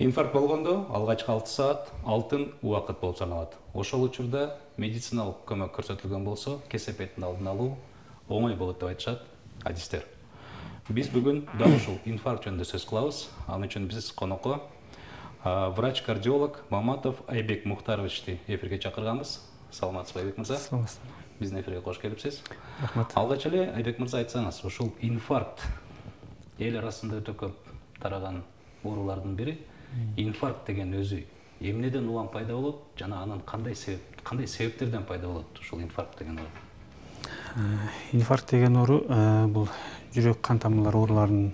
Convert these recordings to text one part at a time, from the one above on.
Инфаркт болгондо алгачкы 6 саат алтын убакыт болуп саналат. Ошол учурда медициналык көмөк көрсөтүлгөн болсо, кесепеттин алдын алуу оңой болот деп айтышат адистер. Биз бүгүн дал ушул инфаркт жөнүндө сөз кылабыз. Ал үчүн биз конокко врач-кардиолог Маматов Айбек Мухтаровичти эфирге чакырганбыз. Саламатсызбы, Айбек мырза? Саламатсызбы. Биздин эфирге кош келипсиз. Рахмат. Алгач эле Айбек мырза айтсаңыз, ушул инфаркт эл арасында өтө көп тараган оорулардын бири. Инфаркт деген өзү эмнеден улам пайда болот жана анын кандай себептерден пайда болот ушул инфаркт деген оору? Инфаркт деген оору бул жүрөк кан тамырлары ооруларынын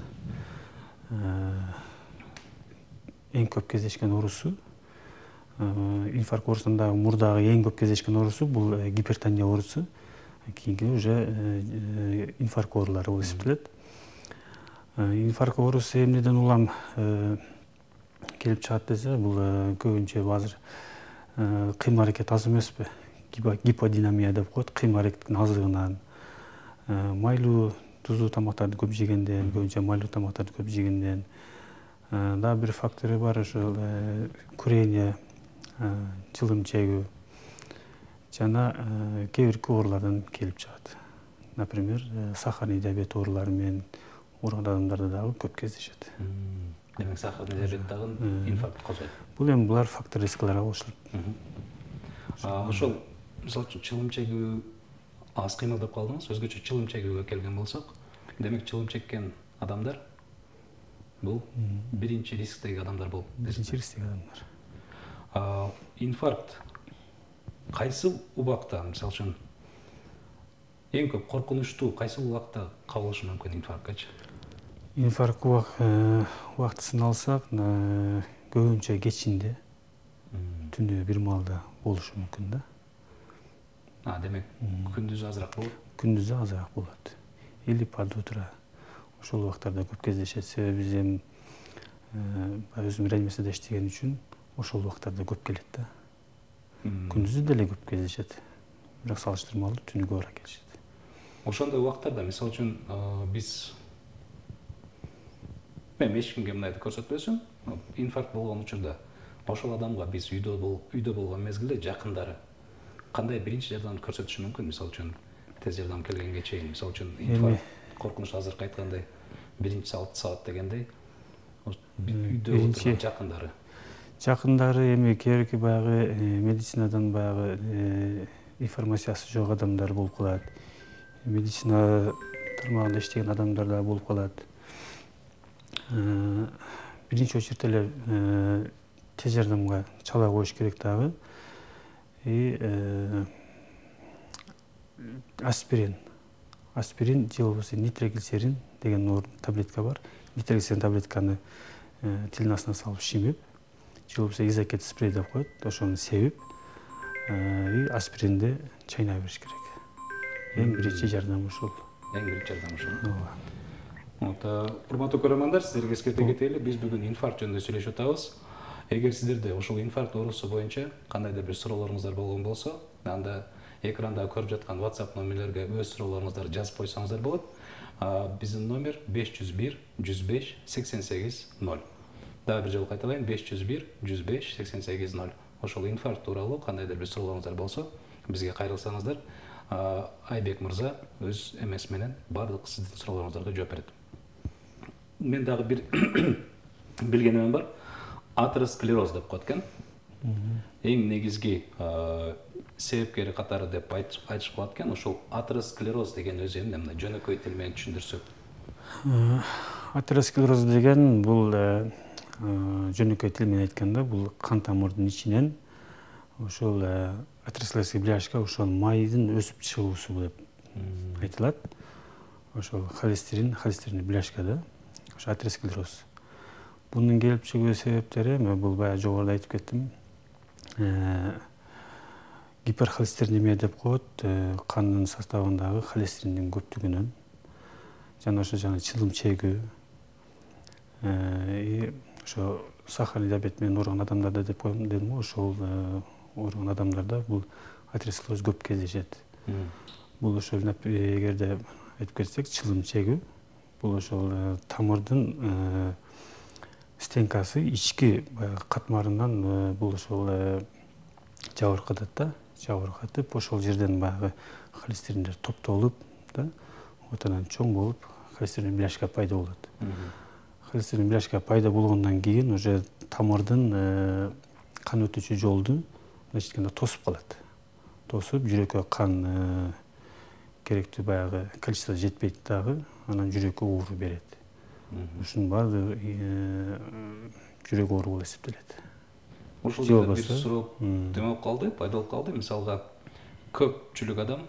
эң көп кездешкен оорусу. Инфаркт оорусунда мурдагы эң көп кездешкен оорусу бул гипертония оорусу. Кийинки уже инфаркт оорулары болуп эсептелет. Инфаркт оорусу эмнеден улам келип чыгат десе, бул көбүнчө азыр кыймыл аракет аз эмеспи? Гиподинамия деп коет, кыймыл аракеттин аздыгынан, майлуу тузлуу тамактарды көп жегенден, көбүнчө майлуу тамактарды көп жегенден, дагы бир фактору бар, ошол курение, чылым чегүү жана кээ бир оорулардан келип чыгат. Например, сахарный диабет оорулары менен ооруган адамдарда дагы көп кездешет. Демек, сахарный диабет дагы инфаркт козгойт. Бул эми булар фактор рискилерге кошулат. Ошол мисалы үчүн чылым чегүү аз кыймыл деп калдыңыз. Өзгөчө чылым чегүүгө келген болсок, демек чылым чеккен адамдар бул биринчи рисктеги адамдар болуп. Биринчи рисктеги адамдар. Инфаркт кайсы убакта, мисалы үчүн эң көп коркунучтуу кайсы убакта кабылышы мүмкүн инфарктчы? Инфаркт убактысын алсак, көбүнчө кечинде, түнү бир маалда болушу мүмкүн да. Демек, күндүзү азыраак болот? Күндүзү азыраак болот. Или под утро. Ошол убактарда көп кездешет. Себеби биз эми өзүм реанимацияда иштеген үчүн ошол убактарда көп келет да. Күндүзү деле көп кездешет. Бирок салыштырмалуу түнү көбүрөөк келишет. Ошондой убактарда, мисалы үчүн, биз мен эч кимге мындайды көрсөтпөсүм, инфаркт болгон учурда ошол адамга биз үйдө болгон мезгилде жакындары кандай биринчи жардам көрсөтүшү мүмкүн? Мисалы үчүн, тез жардам келгенге чейин, мисалы үчүн, инфаркт коркунуч азыркы айткандай биринчи 6 саат дегендей, үйдө отурган жакындары эми кээ бирки баягы медицинадан баягы информациясы жок адамдар болуп калат. Медицина тармагында иштеген адамдар да болуп калат. Биринчи очередь эле тез жардамга чала коюш керек дагы. Аспирин же болбосо нитроглицерин деген таблетка бар. Нитроглицерин таблетканы тилдин астына салып шимип, же болбосо изокет спрей деп коет, ошону себип, аспиринди чайнай бериш керек. Эң биринчи жардам ушул. Урматтуу көрөрмандар, сиздерге эскерте кетели, биз бүгүн инфаркт жөнүндө сүйлөшүп атабыз. Эгер сиздерде ушул инфаркт оорусу боюнча кандайдыр бир суроолоруңуздар болгон болсо, анда экранда көрүп жаткан WhatsApp номерлерге өз суроолоруңуздарды жазып койсоңуздар болот. Биздин номер 501 105 88 0. Дагы бир жолу кайталайын, 501 105 88 0. Ошол инфаркт тууралуу кандайдыр бир суроолоруңуздар болсо, бизге кайрылсаңыздар, Айбек мырза өз эмес менен бардык сиздин суроолоруңуздарга жооп берет. Мен дагы бир билгеним бар. Атеросклероз деп коет экен. Эң негизги себепкери катары деп айтышып калат экен. Ошол атеросклероз деген өзү эмне? Мындай жөнөкөй тил менен түшүндүрсөк. Атеросклероз деген бул жөнөкөй тил менен айтканда бул кан тамырдын ичинен ошол атеросклеротический бляшка, ошол майдын өсүп чыгуусу деп айтылат. Ошол холестерин бляшка да. Ошо атеросклероз. Бунун келип чыгуу себептери, бул баягы жогоруда айтып кеттим. Гиперхолестеринемия деп коет, кандын составындагы холестериндин көптүгүнөн. Жана ошо чылым чегүү, ошо сахарный диабет менен ооруган адамдарда деп коем дедим го, ошол ооруган адамдарда бул атеросклероз көп кездешет. Бул ошол эгерде айтып кетсек, чылым чегүү, бул ошол тамырдын стенкасы ички баягы катмарынан бул ошол жабыркатат да, жабыркатып ошол жерден баягы холестериндер топтолуп да, анан чоң болуп холестерин бляшка пайда болот. Холестерин бляшка пайда болгондон кийин уже тамырдын кан өтүүчү жолду мындайча айтканда тосуп калат. Тосуп жүрөккө кан керектүү баягы количество жетпейт дагы, анан жүрөккө оору берет. Ушунун баардыгы жүрөк оору болуп эсептелет. Ушул жерде бир суроо деме болуп калды, пайда болуп калды. Мисалга көпчүлүк адам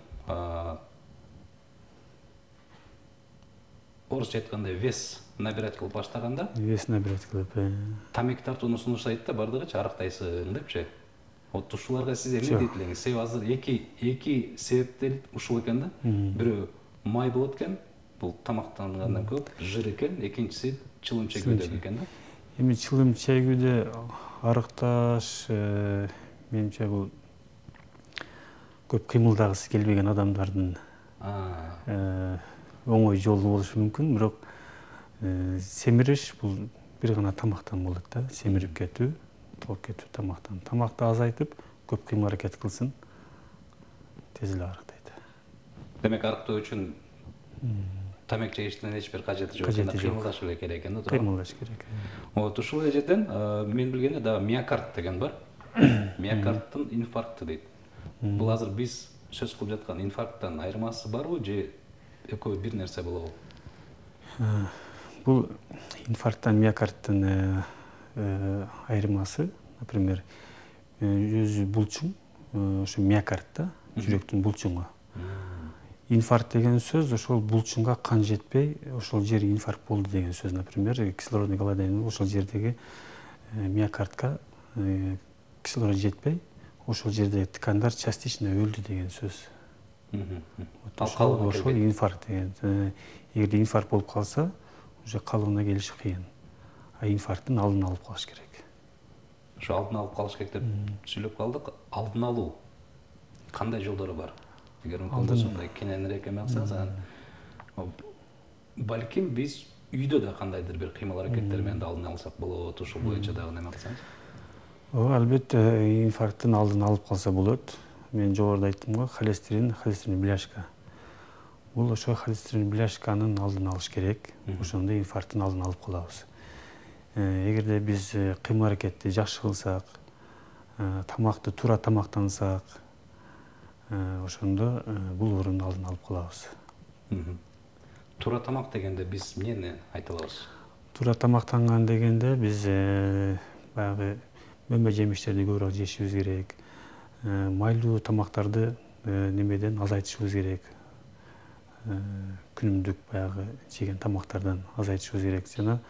орусча айтканда вес набирать кылып баштаганда, вес набирать кылып, тамеки тартууну сунуштайт да, бардыгычы арактайсың депчи. Вот ушуларга сиз эмне дейт элеңиз? Себеби азыр эки себептер ушул экен да. Бирөө май болот экен, бул тамактангандан көп, жыр экен, экинчиси чылым чегүүдө экен да. Эми чылым чегүүдө арыкташ, менимче бул көп кыймылдагысы келбеген адамдардын оңой жолу болушу мүмкүн, бирок семириш бул бир гана тамактан болот да, семирип кетүү, толуп кетүү тамактан. Тамакты азайтып, көп кыймыл аракет кылсын, тез эле арыктайт. Демек арыктоо үчүн тамак жегиштин эч бир кажети жок, кыймылдаш эле керек экен да, туура? Кыймылдаш керек. Вот ушул жерден мен билгенде дагы миокард деген бар. Миокардтын инфаркты дейт. Бул азыр биз сөз кылып жаткан инфаркттан айырмасы барбы же экөө бир нерсе болобу? Бул инфаркттан миокардтын айырмасы, например, өзү булчуң, ошо миокард да, жүрөктүн булчуңу. Инфаркт деген сөз ошол булчуңга кан жетпей, ошол жер инфаркт болду деген сөз. Например, кислородный голодание, ошол жердеги миокардка кислород жетпей, ошол жердеги ткандар частично өлдү деген сөз. Ошол инфаркт деген. Эгерде инфаркт болуп калса, уже калыбына келиши кыйын. А инфаркттын алдын алып калыш керек. Ошо алдын алып калыш керек деп сүйлөп калдык. Алдын алуу кандай жолдору бар? Эгер мүмкүн болсо мындай кененирээк эме кылсаңыз, балким биз үйдө да кандайдыр бир кыймыл аракеттер менен алдын алсак болот, ушул боюнча дагы неме кылсаңыз? Албетте, инфаркттын алдын алып калса болот. Мен жогоруда айттым го, холестерин бляшка. Бул ошо холестерин бляшканын алдын алыш керек. Ошондо инфаркттын алдын алып калабыз. Эгерде биз кыймыл аракетти жакшы кылсак, тамакты туура тамактансак, ошондо бул оорунун алдын алып калабыз. Туура тамак дегенде биз эмнени айта алабыз? Туура тамактанган дегенде биз баягы мөмө жемиштерди көбүрөөк жешибиз керек. Майлуу тамактарды немеден азайтышыбыз керек. Күнүмдүк баягы жеген тамактардан азайтышыбыз керек. Жана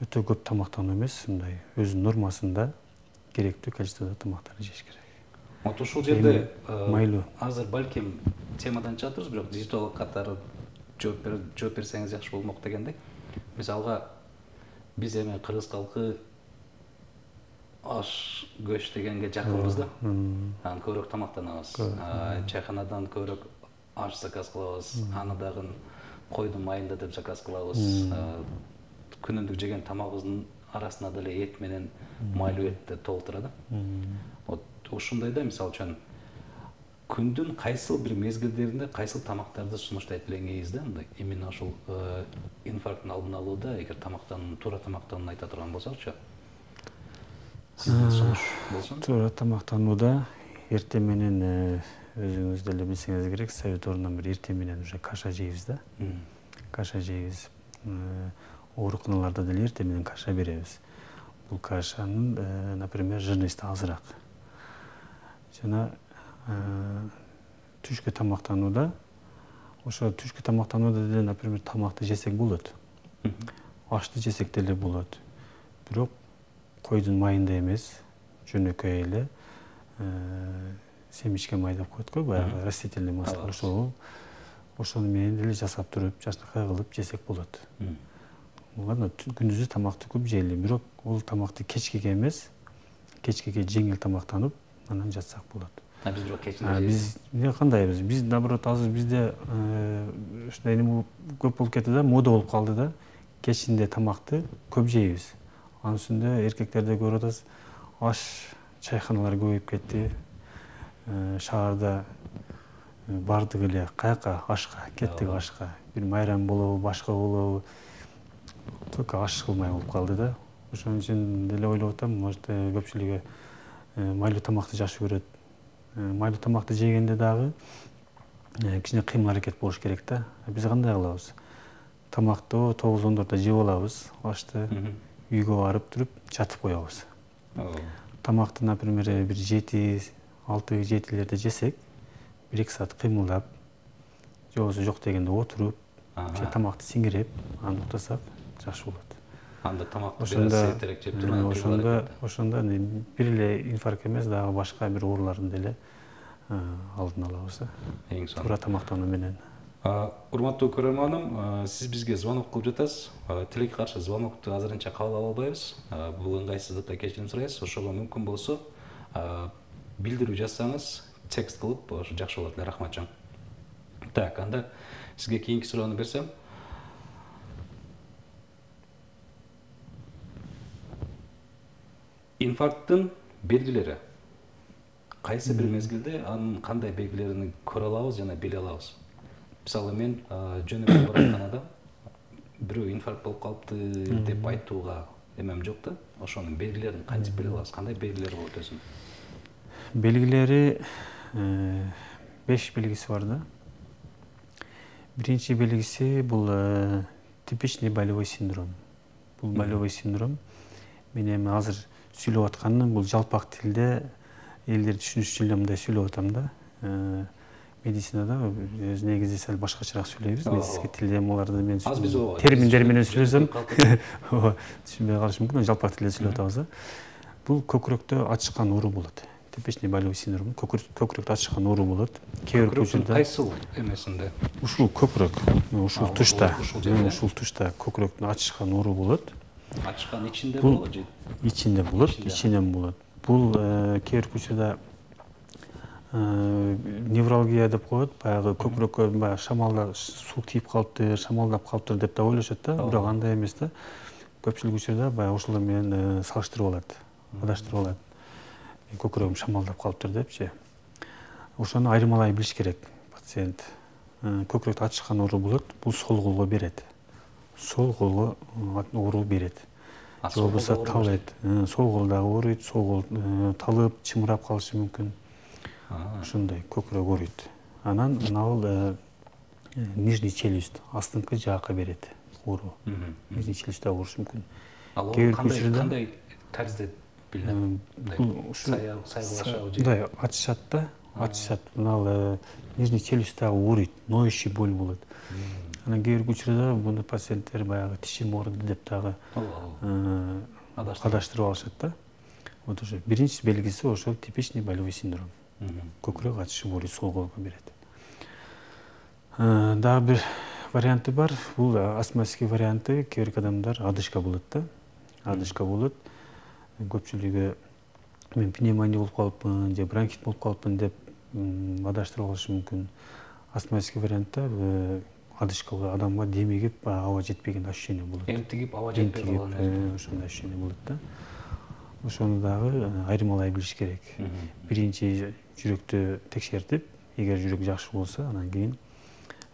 өтө көп тамактануу эмес, мындай өзүнүн нормасында керектүү количестводо тамактарды жеш керек. Вот ушул жерде майлуу. Азыр балким темадан чыгатырбыз, бирок диетолог катары жооп берсеңиз жакшы болмок дегендей. Мисалга биз эми кыргыз калкы аш көч дегенге жакынбыз да. Анан көбүрөөк тамактанабыз. Чайканадан көбүрөөк аш заказ кылабыз. Аны дагы койдун майында деп заказ кылабыз. Күнүмдүк жеген тамагыбыздын арасына деле эт менен майлуу этти толтура да. Вот ушундайда мисалы үчүн күндүн кайсыл бир мезгилдеринде кайсыл тамактарды сунуштайт элеңиз да, мындай именно ушул инфаркттын алдын алууда, эгер туура тамактанууну айта турган болсокчу. Сиздин сунуш болсун. Туура тамактанууда эртең менен өзүңүз деле билсеңиз керек, совет ордунан бери эртең менен уже каша жейбиз да. Каша жейбиз. Ооруканаларда деле эртең менен каша беребиз. Бул кашанын, например, жирности азыраак. Жана түшкү тамактанууда, ошо түшкү тамактанууда деле, например, тамакты жесек болот. Ашты жесек деле болот. Бирок койдун майында эмес, жөнөкөй эле семечке май деп коет го, баягы растительный масло. Ошону менен деле жасап туруп, жашнакай кылып жесек болот. Ладно, күндүзү тамакты көп жейли, бирок ол тамакты кечкеге эмес, кечкеге жеңил тамактанып, анан жатсак болот. Биз бирок кечинде жейбиз. Биз кандайбыз? Биз наоборот азыр бизде ушундай эме көп болуп кетти да, мода болуп калды да. Кечинде тамакты көп жейбиз. Анын үстүндө эркектерде көрүп атабыз, аш чайканалар көбөйүп кетти. Шаарда бардык эле каяка ашка кеттик, ашка. Бир майрам болобу, башка болобу, только аш кылмай болуп калды да. Ошон үчүн деле ойлоп атам, может көпчүлүгү майлуу тамакты жакшы көрөт. Майлуу тамакты жегенде дагы кичине кыймыл аракет болуш керек да. Биз кандай кылабыз? Тамакты 9-10 жеп алабыз, ашты үйгө барып туруп жатып коебуз. Тамакты, например, бир 6-7 жесек, 1-2 саат кыймылдап, же болбосо жок дегенде отуруп, тамакты сиңиреп, анан уктасак жакшы болот. Анда тамакты сейтерээк жеп туруп, ошондо бир эле инфаркт эмес, дагы башка бир оорулардын деле алдын алабыз. Эң сонун. Туура тамактануу менен. Урматтуу көрөрманым, сиз бизге звонок кылып жатасыз. Тилекке каршы звонокту азырынча кабыл ала албайбыз. Бул ыңгайсыздыкка кечирим сурайбыз. Ошого мүмкүн болсо билдирүү жазсаңыз, текст кылып, ошо жакшы болот эле. Рахмат чоң. Так, анда сизге кийинки суроону берсем. Инфаркттын белгилери кайсы бир мезгилде анын кандай белгилерин көрө алабыз жана биле алабыз? Мисалы, мен жөн эле баратканада бирөө инфаркт болуп калыпты деп айтууга эмем жок да. Ошонун белгилерин кантип биле алабыз? Кандай белгилери болот өзүнүн? Белгилери 5 белгиси бар да. Биринчи белгиси бул типичный болевой синдром. Бул болевой синдром мен эми азыр сүйлөп атканым бул жалпак тилде элдер түшүнүш үчүн эле мындай сүйлөп атам да. Медицинада өз негизде сал башкачараак сүйлөйбүз. Медицинский тилде буларды мен терминдер менен сүйлөсөм түшүнбөй калышы мүмкүн. Жалпак тилде сүйлөп атабыз. Бул көкүрөктө ачышкан оору болот. Типичный болевой синдром көкүрөктө ачышкан оору болот. Кээ бир учурда кайсыл эмесинде? Ушул көкүрөк, ушул тушта көкүрөктүн ачышкан оору болот. Ачышкан ичинде болобу же? Ичинде болот, ичинен болот. Бул кээ бир учурда невралгия деп коет, баягы көкүрөккө баягы шамалда суу тийип калыптыр, шамалдап калыптыр деп да ойлошот да, бирок андай эмес да. Көпчүлүк учурда баягы ошолор менен салыштырып алат, адаштырып алат. Көкүрөгүм шамалдап калыптыр депчи. Ошону айырмалай билиш керек пациент. Көкүрөктө ачышкан оору болот, бул сол колго берет. Сол колго оору берет. Же болбосо талыйт. Сол кол дагы ооруйт, сол кол талып, чымырап калышы мүмкүн. Ошондой көкүрөк ооруйт. Анан мынабул нижний челюсть, астыңкы жаакка берет оору. Нижний челюстта оорушу мүмкүн. Ал кандай тарзде билинет? Мындай ачышат да, ачышат. Мына нижний челюстта ооруйт, ноющий боль болот. Анан кээ бир учурда буну пациенттер баягы тишим ооруду деп дагы адаштырып алышат да. Вот ошо биринчи белгиси ошол типичный болевой синдром. Көкүрөк ачышып ооруйт, сол колго берет. Дагы бир варианты бар. Бул астматический варианты. Кээ бир адамдар одышка болот да. Одышка болот. Көпчүлүгү мен пневмония болуп калыпмын же бронхит болуп калыпмын деп адаштырып алышы мүмкүн. Астматический вариантта одышкага адамга демигип, аба жетпеген ощущение болот. Эмтигип, аба жетпей калган. Ошондой ощущение болот да. Ошону дагы айырмалай билиш керек. Биринчи жүрөктү текшертип, эгер жүрөк жакшы болсо, анан кийин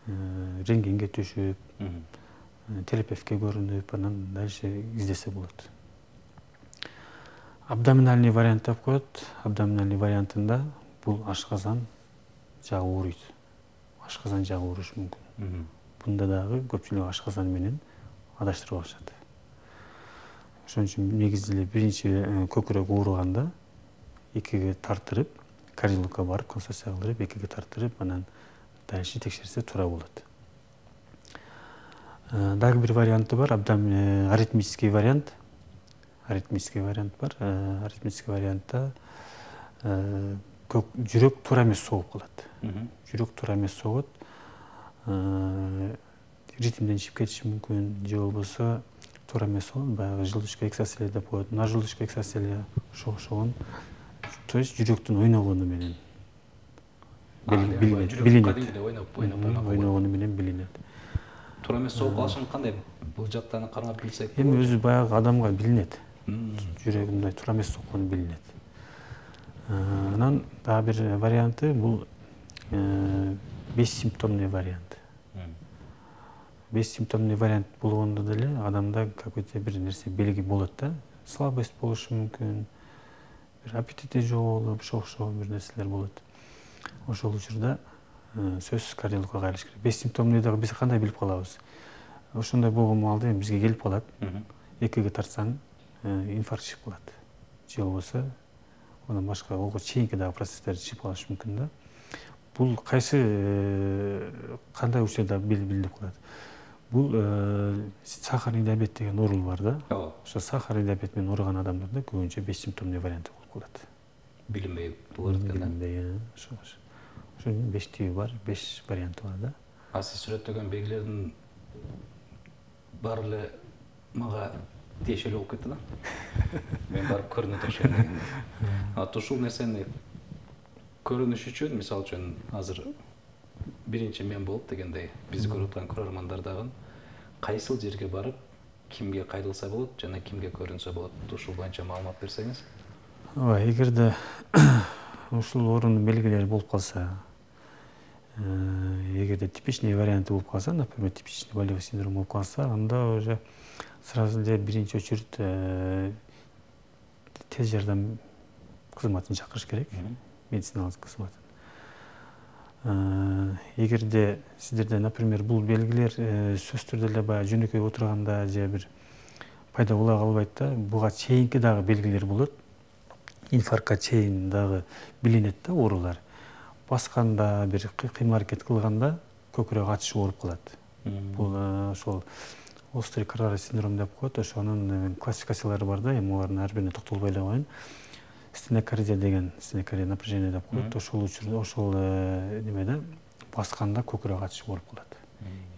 рентгенге түшүп, терапевтке көрүнүп, анан дальше издесе болот. Абдоминальный вариант деп коет. Абдоминальный вариантында бул ашказан жагы ооруйт. Ашказан жагы оорушу мүмкүн. Бунда дагы көпчүлүк ашказан менен адаштырып алышат. Ошон үчүн негизде эле биринчи көкүрөк ооруганда экиге тартырып, кардиологко барып консультация кылдырып, экиге тартырып, анан дальше текшерсе туура болот. Дагы бир варианты бар, аритмический вариант. Аритмический вариант бар. Аритмический вариантта жүрөк туура эмес согуп калат. Жүрөк туура эмес согот. Ритмден чыгып кетиши мүмкүн, же болбосо туура эмес согот, баягы желудочка эксоцелия деп коет. Мына желудочка эксоцелия ошогон, то есть жүрөктүн ойногону менен билинет. Ойногону менен билинет. Туура эмес согуп калышын кандай? Бул жактан кармап билсек. Эми өзү баягы адамга билинет. жүрөгү мындай туура эмес соккону билинет. Анан дагы бир варианты бул бессимптомный вариант. Бессимптомный вариант болгондо деле адамда какой-то бир нерсе белги болот да, слабость болушу мүмкүн, бир аппетити жоголуп, ошол бир нерселер болот. Ошол учурда сөзсүз кардиологко кайрылыш керек. Бессимптомный дагы биз кандай билип калабыз? Ошондой болгон маалда бизге келип калат. ЭКГ тартсаң инфаркт чыгып калат. Же болбосо андан башка ого чейинки дагы процесстер чыгып калышы мүмкүн да. Бул кайсы кандай учурда билинип калат? Бул сахарный диабет деген оору бар да. Ошо сахарный диабет менен ооруган адамдарда көбүнчө бессимптомный варианты болуп калат. Билинбей болот экен да. Билинбей, ошонун 5 тиби бар, 5 варианты бар да. А сиз сүрөттөгөн белгилердин баары эле мага тиешелүү болуп кетти да. Мен барып көрүнө турушайын дегенде. Ушул нерсени көрүнүш үчүн, мисалы үчүн, азыр биринчи мен болуп дегендей, бизди көрүп аткан көрөрмандар дагы кайсыл жерге барып, кимге кайрылса болот жана кимге көрүнсө болот? Ушул боюнча маалымат берсеңиз. Ооба, эгерде ушул оорунун белгилери болуп калса, эгерде типичный варианты болуп калса, например, типичный болевой синдром болуп калса, анда уже сразу эле биринчи очередь тез жардам кызматын чакырыш керек, медициналык кызматын. Эгерде сиздерде, например, бул белгилер сөзсүз түрдө эле баягы жөнөкөй отурганда же бир пайда боло калбайт да, буга чейинки дагы белгилер болот. Инфарктка чейин дагы билинет да оорулар. Басканда, бир кыймыл-аракет кылганда көкүрөк ачышы ооруп калат. Бул ошол острый коронарный синдром деп коет. Ошонун классификациялары бар да, эми алардын ар бирине токтолбой эле коеюн. Стенокардия деген, стенокардия напряжение деп коет. Ошол учурда, ошол немеде басканда көкүрөк ачышы ооруп калат.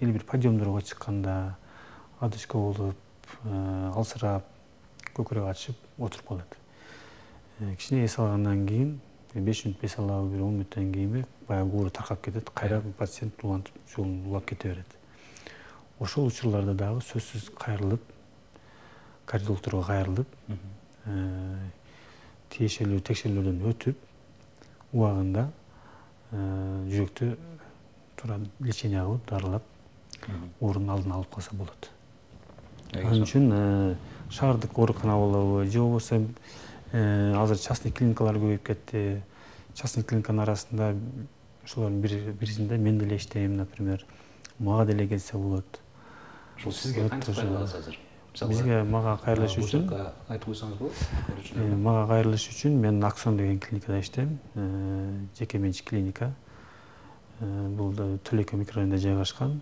Или бир подъемдорго чыкканда одышка болуп, алсырап, көкүрөк ачып отуруп калат. Кичине эс алгандан кийин 5 мүнөт эс алабы, бир 10 мүнөттөн кийинби баягы оору таркап кетет, кайра пациент жолун улап кете берет. Ошол учурларда дагы сөзсүз кайрылып, кардиологторго кайрылып, тиешелүү текшерүүлөрдөн өтүп, убагында жүрөктү туура лечение кылып, дарылап, оорунун алдын алып калса болот. Ал үчүн шаардык оорукана болобу, же болбосо азыр частный клиникалар көбөйүп кетти. Частный клиниканын арасында ошолордун бирисинде мен деле иштейм, например, мага деле келсе болот. Ошол сизге кантип кайрыласыз азыр? Бизге мага кайрылыш үчүн айтып койсоңуз болот. Мага кайрылыш үчүн мен Аксон деген клиникада иштейм. Жеке менчик клиника. Бул Төлөкө микрорайонунда жайгашкан.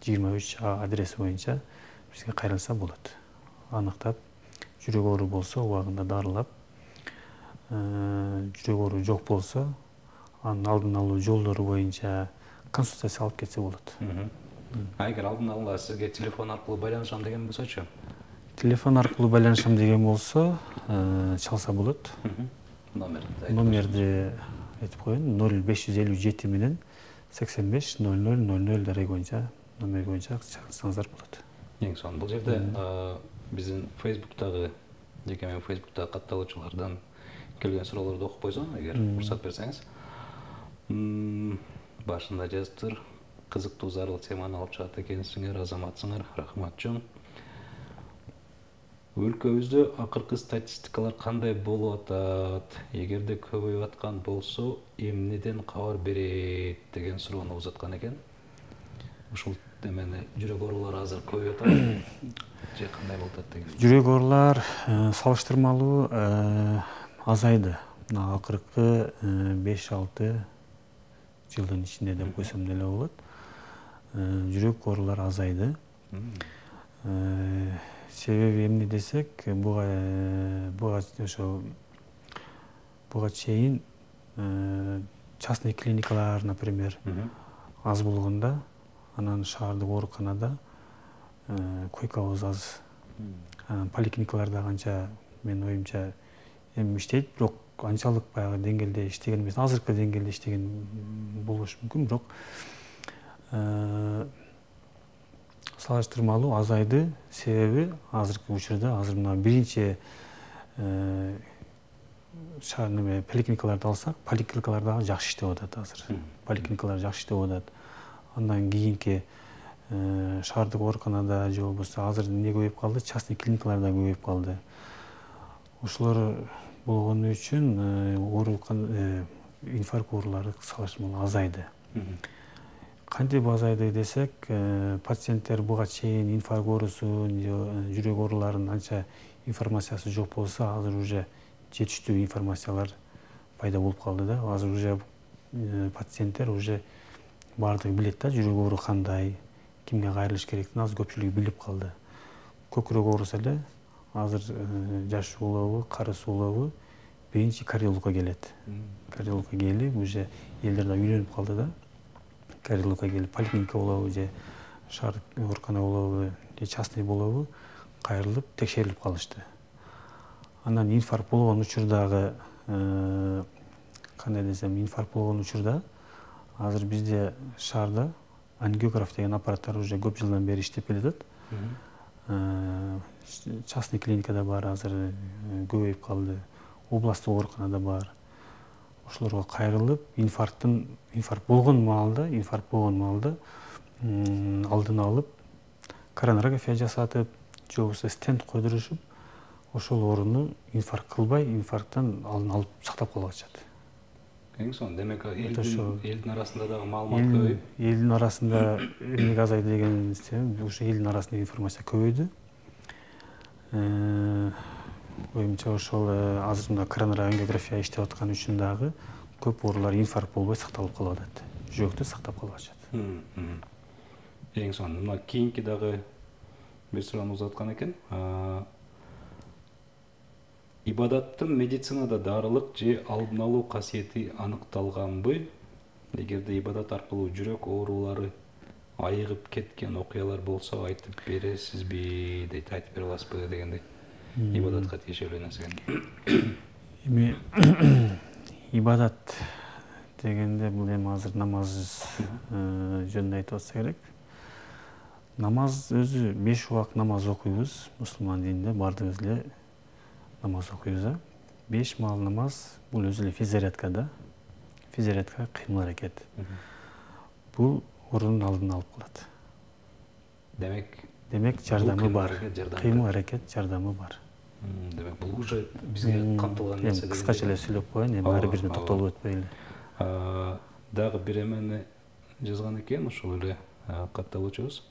23А адреси боюнча бизге кайрылса болот. Аныктап, жүрөк оору болсо убагында дарылап, жүрөк оору жок болсо анын алдын алуу жолдору боюнча консультация алып кетсе болот. Эгер алдын ала сизге телефон аркылуу байланышам деген болсочу? Телефон аркылуу байланышам деген болсо, чалса болот. Номерди айтып коеюн, 0557 менен 85 00 00 дареги боюнча номер боюнча чакырсаңыздар болот. Эң сонун бул жерде биздин Facebook'тагы, жеке мен Facebook'тагы катталуучулардан келген суроолорду окуп койсоң, эгер уруксат берсеңиз. Башында жазыптыр, кызыктуу зарыл теманы алып чыгат экенсиңер, азаматсыңар, рахматчу. Өлкөбүздө акыркы статистикалар кандай болуп атат? Эгерде көбөйүп аткан болсо, эмнеден кабар берет деген суроону узаткан экен. Ушул эмени жүрөк оорулары азыр көбөйүп атат. Же кандай болуп атат деген. Жүрөк оорулар салыштырмалуу азайды. Акыркы 5-6 жылдын ичинде деп койсом деле болот. Жүрөк оорулар азайды. Себеби эмне десек, буга чейин частный клиникалар, например, аз болгондо, анан шаардык ооруканада койкабыз аз. Поликлиникаларда канча, менин оюмча, эми иштейт, бирок анчалык баягы деңгээлде иштеген эмес, азыркы деңгээлде иштеген болушу мүмкүн, бирок салыштырмалуу азайды. Себеби азыркы учурда мына биринчи поликлиникаларды алсак, поликлиникалар дагы жакшы иштеп атат азыр. Поликлиникалар жакшы иштеп атат. Андан кийинки шаардык ооруканада же болбосо азыр эмне көбөйүп калды? Частный клиникалар да көбөйүп калды. Ошолор болгону үчүн инфаркт оорулары салыштырмалуу азайды. Кантип азайды десек, пациенттер буга чейин инфаркт оорусун же жүрөк ооруларынын анча информациясы жок болсо, азыр уже жетиштүү информациялар пайда болуп калды да. Азыр уже пациенттер уже баардыгы билет да, жүрөк оору кандай, кимге кайрылыш керектигин азыр көпчүлүгү билип калды. Көкүрөк ооруса эле азыр жаш улабы, кары суулабы биринчи кардиологко келет. Кардиологко келип, уже элдер да үйлөнүп калды да. Кардиологко келип, поликлиника болобу же шаардык оорукана болобу же частный болобу, кайрылып текшерилип калышты. Анан инфаркт болгон учурдагы кандай десем, инфаркт болгон учурда азыр бизде шаарда ангиограф деген аппараттар уже көп жылдан бери иштеп келатат. Частный клиникада бар, азыр көбөйүп калды. Областтык ооруканада бар. Ошолорго кайрылып, инфаркт болгон маалда алдын алып, коронарография жасатып, же болбосо стенд койдурушуп, ошол ооруну инфаркт кылбай, инфаркттан алдын алып сактап калып атышат. Эң сонун, демек элдин арасында дагы маалымат көбөйүп, элдин арасында эмнеге азайды деген себеп, ушу элдин арасында информация көбөйдү. Оюмча ошол азыр мына коронарография иштеп аткан үчүн дагы көп оорулар инфаркт болбой сакталып калып атат. Жүрөктө сактап калып атышат. Эң сонун. Мына кийинки дагы бир суроону узаткан экен. Ибадаттын медицинада дарылык же алдын алуу касиети аныкталганбы? Эгерде ибадат аркылуу жүрөк оорулары айыгып кеткен окуялар болсо айтып бересизби дейт, айтып бере аласызбы дегендей. Ибадатка тиешелүү нерсе. Эми ибадат дегенде бул эми азыр намаз жөнүндө айтып атса керек. Намаз өзү 5 убакыт намаз окуйбуз. Мусулман дининде баардыгыбыз эле намаз окуйбуз. 5 маал намаз бул өзү эле физзарядка да. Физзарядка кыймыл аракет. Бул оорунун алдын алып калат. Демек жардамы бар. Кыймыл аракет жардамы бар. Демек бул уже бизге камтылган нерсе. Кыскача эле сүйлөп коеюн, эми ар бирине токтолуп өтпөй эле. Дагы бир эмени жазган экен, ошол эле катталуучубуз.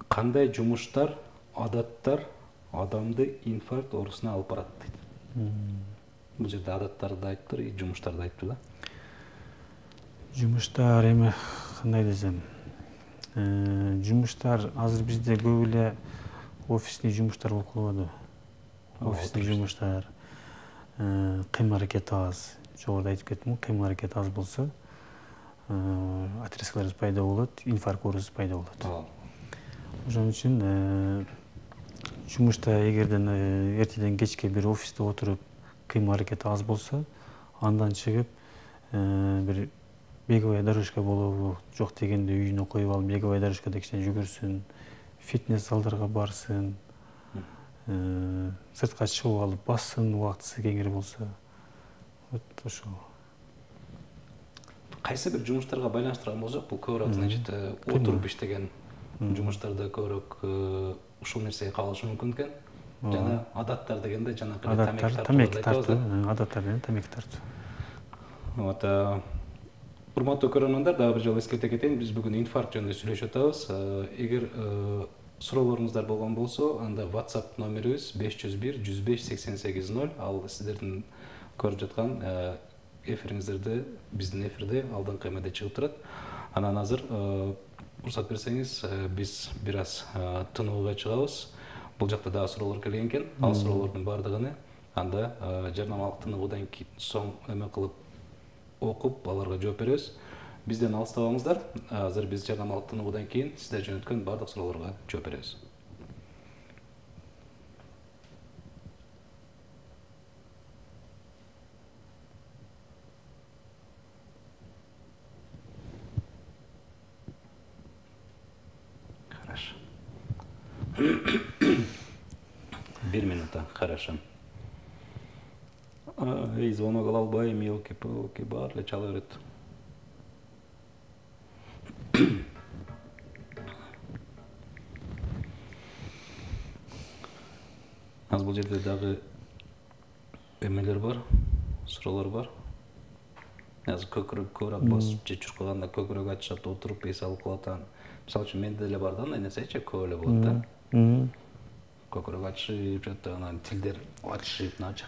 Кандай жумуштар, адаттар адамды инфаркт оорусуна алып барат дейт. Бул жерде адаттарды айтыптыр, жумуштарды айтыптыр да. Жумуштар эми кандай десем, жумуштар азыр бизде көп эле офисный жумуштар болуп калбадыбы? Офисный жумуштар, кыймыл аракет аз. Жогоруда айтып кеттим, кыймыл аракет аз болсо, отрезкалар пайда болот, инфаркт оорусу пайда болот. Ошон үчүн жумушта эгерден эртеден кечке бир офисте отуруп кыймыл аракети аз болсо, андан чыгып бир беговая дорожка болобу, жок дегенде үйүнө коюп алып беговая дорожкада кичине жүгүрсүн, фитнес залдарга барсын, сыртка чыгып алып бассын, убактысы кеңири болсо. Вот ошол. Кайсы бир жумуштарга байланыштырган болсок, бул көбүрөөк, значит, отуруп иштеген жумуштарда көбүрөөк ушул нерсеге кабылышы мүмкүн экен. Жана адаттар дегенде жанакы тамеки тартуу, адаттар менен тамеки тартуу. Вот, урматтуу көрөрмандар, дагы бир жолу эскерте кетейин, биз бүгүн инфаркт жөнүндө сүйлөшүп атабыз. Эгер суроолоруңуздар болгон болсо, анда WhatsApp номерибиз 501 105 88 0. Ал сиздердин көрүп жаткан эфириңиздерде, биздин эфирде алдыңкы эмеде чыгып турат. Анан азыр уруксат берсеңиз, биз бир аз тынууга чыгабыз. Бул жакта дагы суроолор келген экен. Ал суроолордун баардыгын анда жарнамалык тыныгуудан соң эме кылып окуп, аларга жооп беребиз. Бизден алыстабаңыздар. Азыр биз жарнамалык тыныгуудан кийин сиздер жөнөткөн баардык суроолорго жооп беребиз. 1 минута, хорошо. Звонок ала албайм, елки-палки, бар эле чала берет. Аз бул жерде дагы эмелер бар, суроолор бар. Азыр көбүрөөк басып же чуркаганда көбүрөөк айтышат, отуруп эс алып калат. Мисалы үчүн менде деле бар да, андай нерсечи көп эле болот да. Көбүрөөк айтышып жатты, анан тилдер айтышып, нача.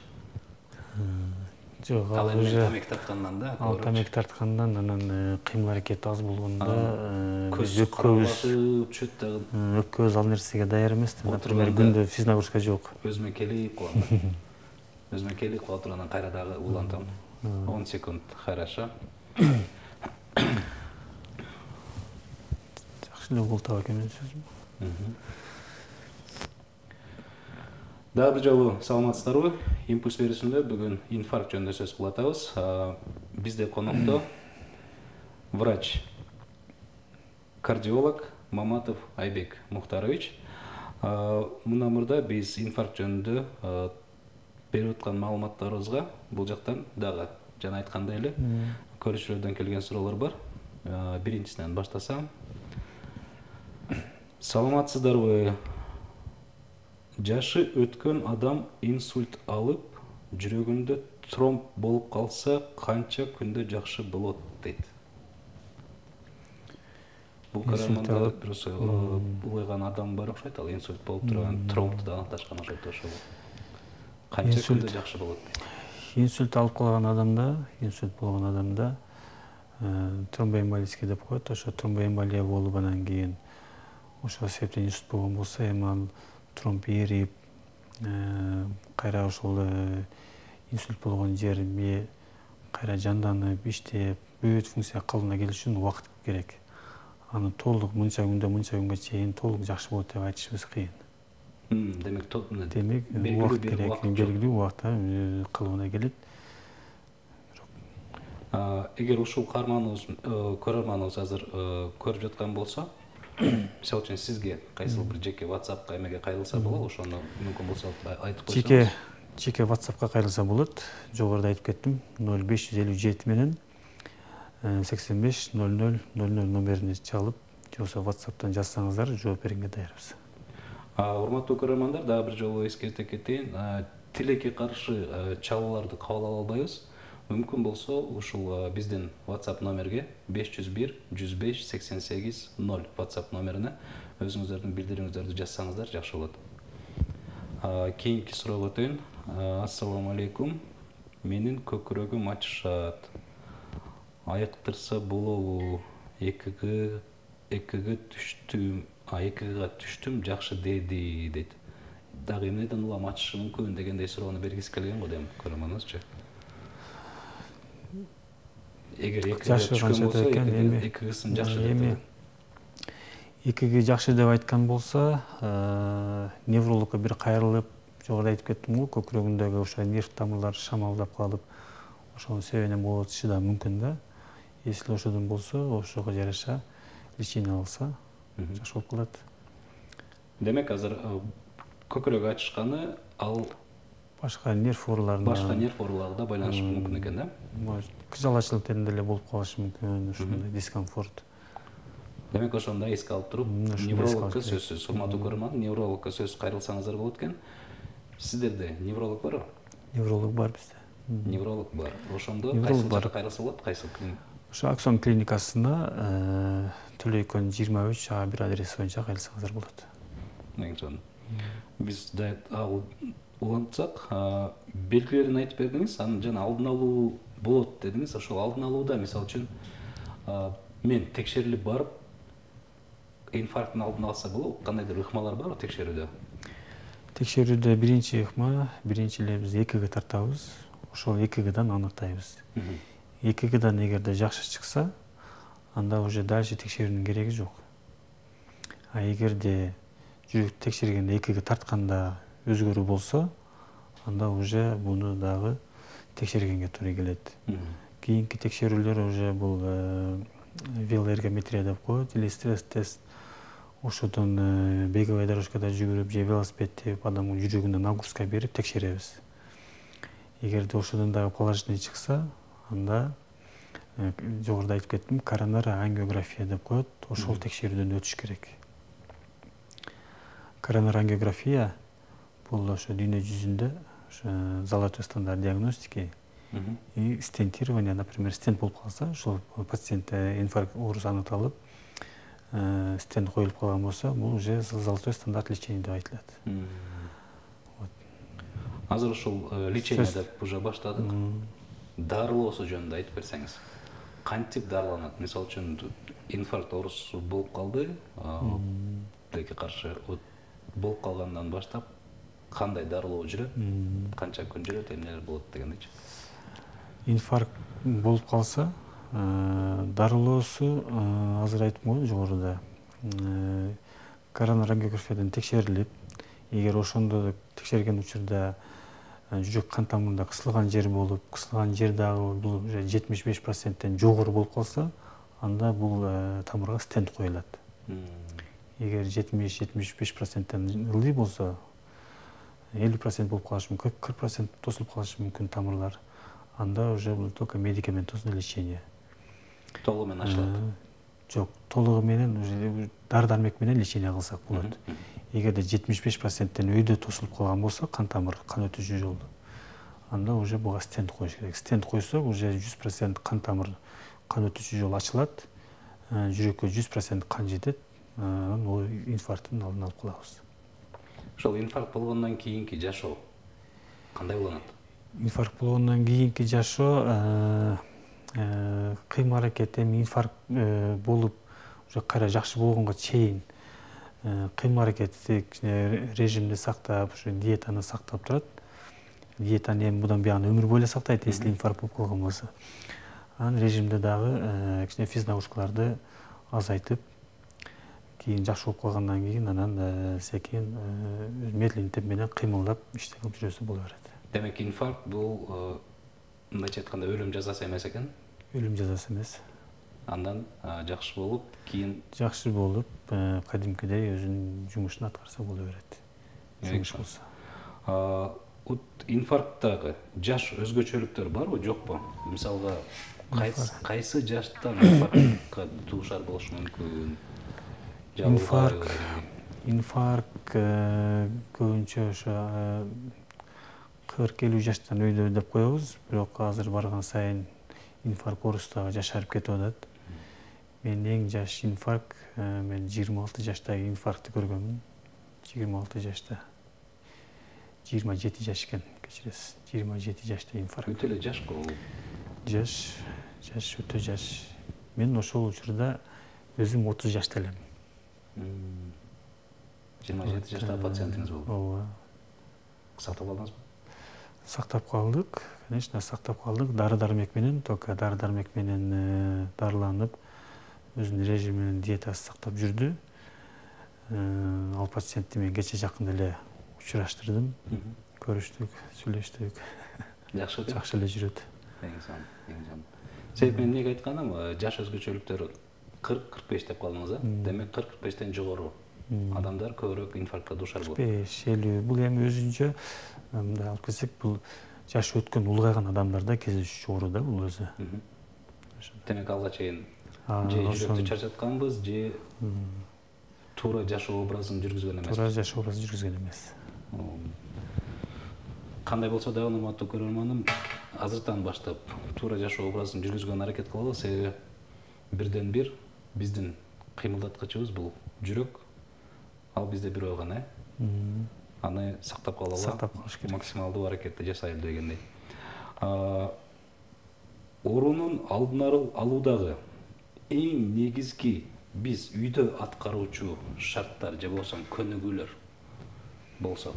Жок, ал эми тамек тарткандан да. Ал тамек тарткандан анан кыймыл аракет аз болгондо көз каралатып түшөт дагы. Өпкөбүз ал нерсеге даяр эмес. Например, күндө физнагрузка жок. Өзүмө келип калам. Өзүмө келип калып туруп анан кайра дагы улантам. 10 секунд, хорошо. Жакшы эле болуп таба экен сөзүм. Дагы бир жолу саламатсыздарбы? Импульс берүүсүндө бүгүн инфаркт жөнүндө сөз кылып атабыз. Бизде конокто врач, кардиолог Маматов Айбек Мухтарович. Мына мурда биз инфаркт жөнүндө берип аткан маалыматтарыбызга бул жактан дагы жана айткандай эле көрүүчүлөрдөн келген суроолор бар. Биринчисинен баштасам. Саламатсыздарбы? Жашы өткөн адам инсульт алып, жүрөгүндө тромб болуп калса, канча күндө жакшы болот дейт. Бул караманда просто улайган адам бар окшойт, ал инсульт болуп турган, тромбду да аныкташкан окшойт ошол. Канча күндө жакшы болот дейт. Инсульт алып калган адамда, инсульт болгон адамда тромбоэмболический деп коет. Ошо тромбоэмболия болуп анан кийин ошол себептен инсульт болгон болсо, эми ал тромб эрип, кайра ошол инсульт болгон жерме кайра жанданып, иштеп, бүт функция калыбына келиш үчүн убакыт керек. Аны толук мынча күнгө чейин толук жакшы болот деп айтышыбыз кыйын. Демек, убакыт керек, белгилүү убакытта калыбына келет. Эгер ушул көрөрманыбыз азыр көрүп жаткан болсо, мисалы үчүн сизге кайсыл бир жеке WhatsApp'ка эмеге кайрылса болобу, ошону мүмкүн болсо айтып койсоңуз. Жеке WhatsApp'ка кайрылса болот. Жогоруда айтып кеттим, 0557 менен 85 00 00 номерине чалып, же болбосо WhatsApp'тан жазсаңыздар, жооп бергенге даярбыз. Урматтуу көрөрмандар, дагы бир жолу эскерте кетейин. Тилекке каршы чалууларды кабыл ала албайбыз. Мүмкүн болсо ушул биздин WhatsApp номерге 501 105 88 0 WhatsApp номерине өзүңүздөрдүн билдирүүңүздөрдү жазсаңыздар жакшы болот. Кийинки суроого өтөйүн. Ассаламу алейкум. Менин көкүрөгүм ачышат. Айыктырса болобу? Экиге түштүм, жакшы деди дейт. Дагы эмнеден улам ачышы мүмкүн дегендей суроону бергиси келген го дейм көрөрманыбызчы. Эгер экиге түшкөн болсо, эки кысым жакшы деп. Экиге жакшы деп айткан болсо, неврологко бир кайрылып, жогоруда айтып кеттим го, көкүрөгүндөгү ошо нерв тамырлары шамалдап калып, ошонун себебинен болуп атышы да мүмкүн да. Если ошодон болсо, ошого жараша лечение алса, жакшы болуп калат. Демек, азыр көкүрөк ачышканы ал башка нерв ооруларына байланышы мүмкүн экен да? Кыжалачылыктеринде эле болуп калышы мүмкүн, ушундай дискомфорт. Демек, ошондо эске алып туруп, неврологко сөзсүз, урматтуу көрөрман, неврологко сөз кайрылсаңыздар болот экен. Сиздерде невролог барбы? Невролог бар бизде. Невролог бар. Ошондо кайсыл жакка кайрылса болот, кайсыл клиника? Ошо Аксон клиникасына Төлөйкөн 23 бир адреси боюнча кайрылсаңыздар болот. Эң сонун. Биз да улантсак, белгилерин айтып бердиңиз, анын жана алдын алуу болот дедиңиз. Ошол алдын алууда, мисалы үчүн, мен текшерилип барып, инфаркттын алдын алса болобу? Кандайдыр ыкмалар барбы текшерүүдө? Текшерүүдө биринчи ыкма, биринчи эле биз ЭКГ тартабыз. Ошол ЭКГдан аныктайбыз. ЭКГдан эгерде жакшы чыкса, анда уже дальше текшерүүнүн кереги жок. А эгерде жүрөк текшергенде ЭКГ тартканда өзгөрүү болсо, анда уже буну дагы текшергенге туура келет. Кийинки текшерүүлөр уже бул велоэргометрия деп коет, или стресс тест. ошодон беговой дорожкада жүгүрүп же велосипед терип адамдын жүрөгүнө нагрузка берип текшеребиз. Эгерде ошодон дагы положительный чыкса, анда жогоруда айтып кеттим, коронарангиография деп коет. Ошол текшерүүдөн өтүш керек. Коронарангиография бул ошо дүйнө жүзүндө золотой стандарт диагностики и стентирование, например, стент болуп калса, ошол пациентте инфаркт оорусу анықталып, стент коюлуп калган болсо, бул уже золотой стандарт лечения деп айтылат. Азыр ушул лечение деп уже баштадык. Дарылоосу жөнүндө айтып берсеңиз. Кантип дарыланат? Мисалы үчүн инфаркт оорусу болуп калды, тилекке каршы болуп калгандан баштап кандай дарылоо жүрөт, канча күн жүрөт, эмнелер болот дегендейчи. Инфаркт болуп калса, дарылоосу азыр айттым го жогоруда. Коронарангиографиядан текшерилип, эгер ошондо текшерген учурда жүрөк кан тамырында кысылган жер болуп, кысылган жер дагы бул 75%тен жогору болуп калса, анда бул тамырга стент коюлат. Эгер 70-75%тен ылдый болсо, 50% болуп калышы мүмкүн, 40% тосулуп калышы мүмкүн тамырлар. Анда уже бул только медикаментозный лечение. Толугу менен ачылат. Жок, толугу менен уже дары-дармек менен лечение кылсак болот. Эгерде 75%тен өйдө тосулуп калган болсо, кан тамыр, кан өтүүчү жолду, анда уже буга стент коюш керек. Стент койсок, уже 100% кан тамыр, кан өтүүчү жол ачылат, жүрөккө 100% кан жетет, анан инфаркттын алдын алып калабыз. Ошол инфаркт болгондон кийинки жашоо кандай болот? Инфаркт болгондон кийинки жашоо кыймыл аракет, эми инфаркт болуп уже кайра жакшы болгонго чейин кыймыл аракеттик режимди сактап, ушу диетаны сактап турат. Диетаны эми мындан бuyog'ini өмүр бою сактайт, если инфаркт болуп калган болсо. Анан режимде дагы кичине физ нагрузкаларды азайтып, кийин жакшы болуп калгандан кийин анан секин медленный темп менен кыймылдап иштеп жүрөсө боло берет. Демек, инфаркт бул мындайча айтканда өлүм жазасы эмес экен? Өлүм жазасы эмес. Андан жакшы болуп, кийин жакшы болуп, кадимкидей өзүнүн жумушун аткарса боло берет. Жумуш болсо. Инфаркттагы жаш өзгөчөлүктөр барбы, жокпу? Мисалга, кайсы жаштан инфарктка дуушар болушу мүмкүн? Инфаркт көбүнчө ошо 40-50 жаштан өйдө деп коебуз, бирок азыр барган сайын инфаркт оорусу дагы жашарып кетип атат. Мен эң жаш инфаркт, мен 26 жаштагы инфарктты көргөмүн. 26 жашта. 27 жаш экен, кечиресиз. 27 жашта инфаркт. Өтө эле жаш го. Жаш, өтө жаш. Мен ошол учурда өзүм 30 жашта элем. 27 жаштагы пациентиңиз болду. Ооба. Сактап калдыңызбы? Сактап калдык, конечно, сактап калдык. Дары-дармек менен, только дары-дармек менен дарыланып, өзүнүн режими менен диетасы сактап жүрдү. Ал пациентти мен кече жакын эле учураштырдым. Көрүштүк, сүйлөштүк. Жакшы эле жүрөт. Эң сонун. Себеп мен эмнеге айтканым, жаш өзгөчөлүктөр 40-45 деп калдыңыз, демек 40-45тен жогору адамдар көбүрөөк инфарктка дуушар болот. 45-50 бул эми өзүнчө мындай алып келсек, бул жашы өткөн улгайган адамдарда кездешүүчү оору да бул өзү. Демек алга чейин же жүрөктү чарчатканбыз, же туура жашоо образын жүргүзгөн эмес. Туура жашоо образын жүргүзгөн эмес. Кандай болсо да, урматтуу көрөрманым, азыртан баштап туура жашоо образын жүргүзгөнгө аракет кылалы, себеби бирден бир биздин кыймылдаткычыбыз бул жүрөк. Ал бизде бирөө гана. Аны сактап калалы, сактап калыш керек. Максималдуу аракетти жасайлы дегендей. Оорунун алдын алуудагы эң негизги биз үйдө аткаруучу шарттар же болсо көнүгүүлөр болсо.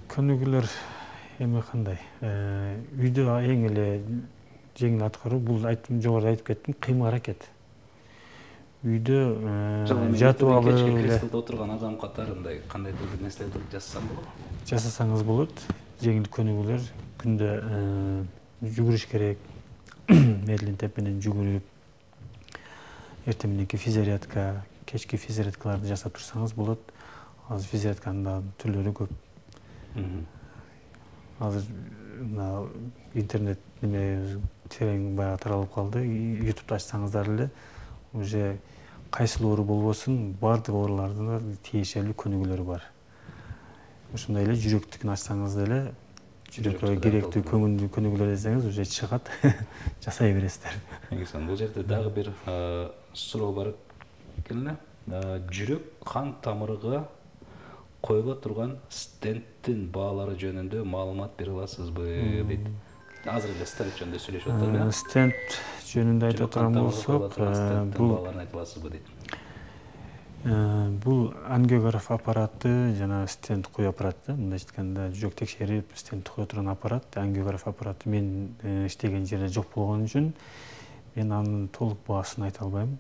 Көнүгүүлөр эми кандай? Үйдө эң эле жеңил аткаруу бул жогоруда айтып кеттим, кыймыл аракет. Үйдө жатып алып креслодо отурган адам катарындай кандайдыр бир нерселерди жасасам болобу? Жасасаңыз болот. Жеңил көнүгүүлөр, күндө жүгүрүш керек, медленный темп менен жүгүрүп, эртең мененки физзарядка, кечки физзарядкаларды жасап турсаңыз болот. Азыр физзарядканын да түрлөрү көп. Азыр мына интернет терең баягы таралып калды. YouTube'да ачсаңыздар эле уже кайсыл оору болбосун, баардык оорулардын тиешелүү көнүгүүлөрү бар. Ошондой эле жүрөктүкүн ачсаңыз деле, жүрөккө керектүү көнүгүүлөр десеңиз уже чыгат, жасай бересиздер. Бул жерде дагы бир суроо бар экен эле. Жүрөк кан тамырыга коюла турган стенттин баалары жөнүндө маалымат бере аласызбы дейт. Азыр эле стенд жөнүндө сүйлөшүп атабыз. Стенд жөнүндө айта турган болсок, бул айта аласызбы дейт. Бул ангиограф аппараты жана стенд кою аппараты. Мындайча айтканда, жүрөк текшерип, стенд кое турган аппарат, ангиограф аппараты мен иштеген жерде жок болгон үчүн мен анын толук баасын айта албайм.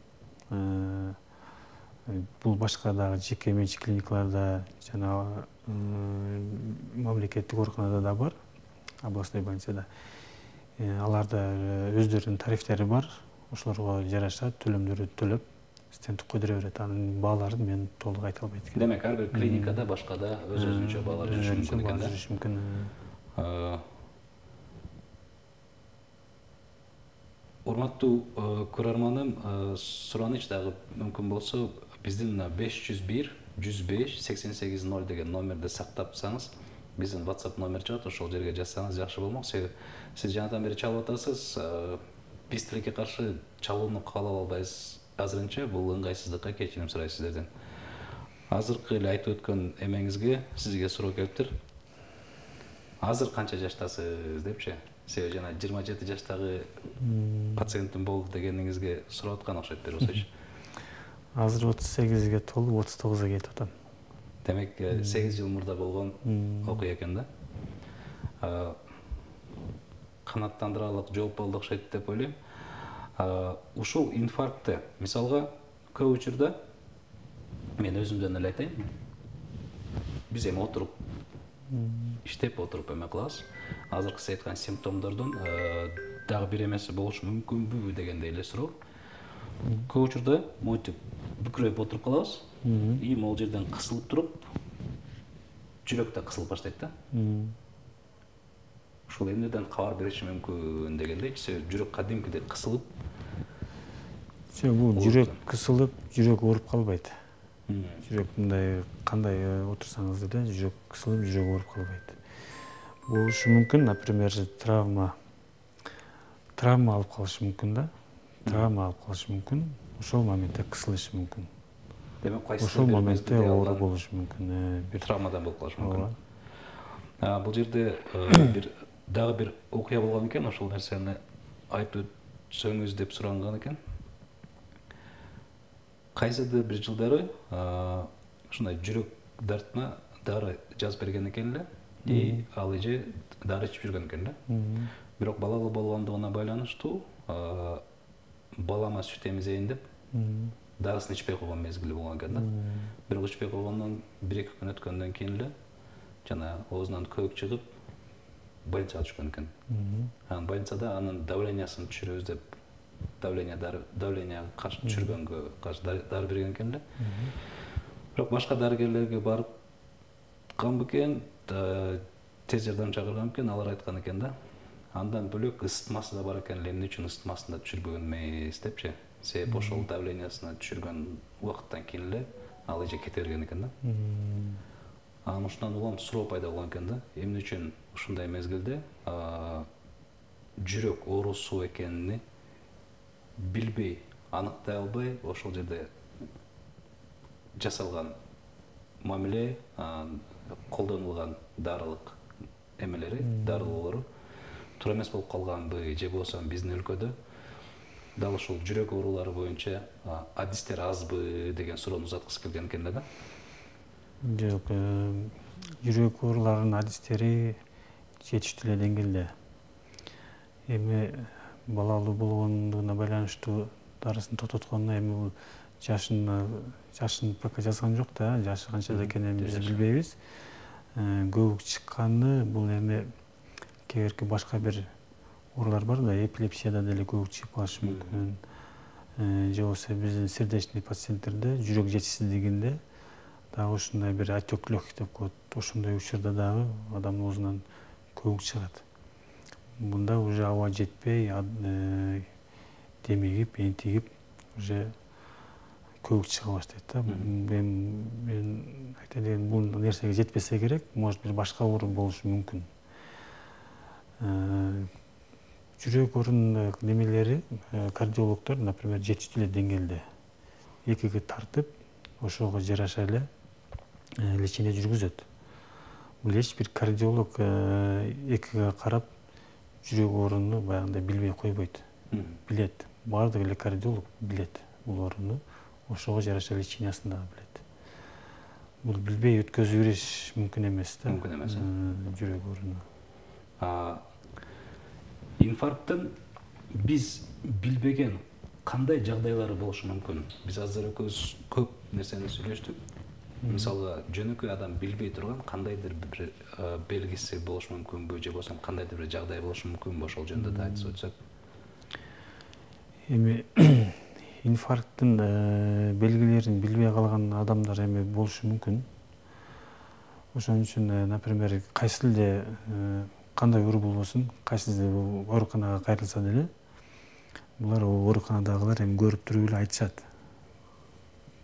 Бул башка дагы жеке менчик клиникаларда жана мамлекеттик ооруканада да бар, областной больницада. Аларда өздөрүнүн тарифтери бар. Ошолорго жараша төлөмдөрдү төлөп, стенд койдура берет. Анын бааларын мен толук айта албайт экенм. Демек, ар бир клиникада башкада өз-өзүнчө баалар жүрүшү мүмкүн экен да? Жүрүшү мүмкүн. Урматтуу көрөрманым, сураныч дагы мүмкүн болсо, биздин 501 105 88 0 деген номерди сактапсаңыз, биздин WhatsApp номер чыгат, ошол жерге жазсаңыз жакшы болмок. Себеби сиз жанадан бери чалып атасыз, биз тилекке каршы чалууну каалап албайбыз. Азырынча бул ыңгайсыздыкка кечирим сурайбыз сиздерден. Азыркы эле айтып өткөн эмеңизге сизге суроо келиптир. Азыр канча жаштасыз депчи? Себеби жана 27 жаштагы пациентим болду дегениңизге сурап аткан окшойт бербесечи? Азыр 38-ге толуп 39-а кетип атам. Демек, 8 жыл мурда болгон окуя экен да. Канааттандырарлык жооп болду окшойт деп ойлойм. Ушул инфарктты, мисалга, көп учурда мен өзүмдөн эле айтайын. Биз эми отуруп иштеп отуруп эме кылабыз. Азыркы сиз айткан симптомдордун дагы бир эмеси болушу мүмкүнбү дегендей эле суроо. Көп учурда монтип бүкүрөйүп отуруп калабыз. И могул жерден кысылып туруп, жүрөк да кысылып баштайт да. Ушул эмнеден кабар бериши мүмкүн дегендей, себеби жүрөк кадимкидей кысылып. Бул жүрөк кысылып, жүрөк ооруп калбайт. Жүрөк мындай кандай отурсаңыз деле жүрөк кысылып, жүрөк ооруп калбайт. Болушу мүмкүн, например, травма алып калышы мүмкүн да. Травма алып калышы мүмкүн. Ошол моментте кысылышы мүмкүн. Демек, кайсы ошол моментте оору болушу мүмкүн. Бир травмадан болуп калышы мүмкүн. Бул жерде дагы бир окуя болгон экен, ошол нерсени айтып өтсөңүз деп суранган экен. Кайсыдыр бир жылдары ушундай жүрөк дартына дары жазып берген экен эле. И ал эже дары ичип жүргөн экен да. Бирок балалуу болгондугуна байланыштуу балама сүт эмизейин деп дарысын ичпей койгон мезгили болгон экен да. Бирок ичпей койгондон 1-2 күн өткөндөн кийин эле жана оозунан көбүк чыгып больницага түшкөн экен. Анан больницада анын давлениясын түшүрөбүз деп давление каршы түшүргөнгө каршы дары берген экен эле. Бирок башка дарыгерлерге барып кан бекен, тез жардам чакырган экен, алар айткан экен да. Андан бөлөк ысытмасы да бар экен эле, эмне үчүн ысытмасын да түшүрбөгөн эмес депчи. Себеби ошол давлениясына түшүргөн убакыттан кийин эле ал эже кете берген экен да. Анан ушундан улам суроо пайда болгон экен да. Эмне үчүн ушундай мезгилде жүрөк оорусу экенин билбей, аныктай албай, ошол жерде жасалган мамиле, колдонулган дарылык эмелери, дарылоолору туура эмес болуп калганбы, же болбосо биздин өлкөдө дал ушул жүрөк оорулары боюнча адистер азбы деген суроону узаткысы келген экен да. Жок, жүрөк ооруларынын адистери жетиштүү эле деңгээлде. Эми балалуу болгондугуна байланыштуу дарысын токтотконуна эми бул жашын пока жазган жок да, жашы канчада экенин биз билбейбиз. Көбүк чыкканы бул эми кээ бирки башка бир оорулар бар да, эпилепсияда деле көбүк чыгып калышы мүмкүн. же болбосо биздин сердечный пациенттерде жүрөк жетишсиздигинде дагы ушундай бир отек легких деп коет. Ошондой учурда дагы адамдын оозунан көгүк чыгат. Мында уже аба жетпей, демигип, энтигип, уже көгүк чыга баштайт да. Мен айтайын дегеним, бул нерсеге жетпесе керек, может бир башка оорук болушу мүмкүн. Жүрөк орун немелери кардиологдор, например, жетиштүү эле деңгээлде экиге тартып, ошого жараша эле лечение жүргүзөт. Бул эч бир кардиолог экиге карап жүрөк орунду баягындай билбей койбойт. Билет. Баардык эле кардиолог билет бул орунду. Ошого жараша лечениясын дагы билет. Бул билбей өткөзүп бериш мүмкүн эмес да. Мүмкүн эмес. Жүрөк орунду. Инфаркттын биз билбеген кандай жагдайлары болушу мүмкүн? Биз азыр экөөбүз көп нерсени сүйлөштүк. Мисалы, жөнөкөй адам билбей турган кандайдыр бир белгиси болушу мүмкүнбү, же болбосо кандайдыр бир жагдай болушу мүмкүнбү? Ошол жөнүндө да айтып өтсөк. Эми инфаркттын белгилерин билбей калган адамдар эми болушу мүмкүн. Ошон үчүн, например, кайсы эле кандай оору болбосун, кайсы ооруканага кайрылса деле, булар ооруканадагылар эми көрүп туруп эле айтышат.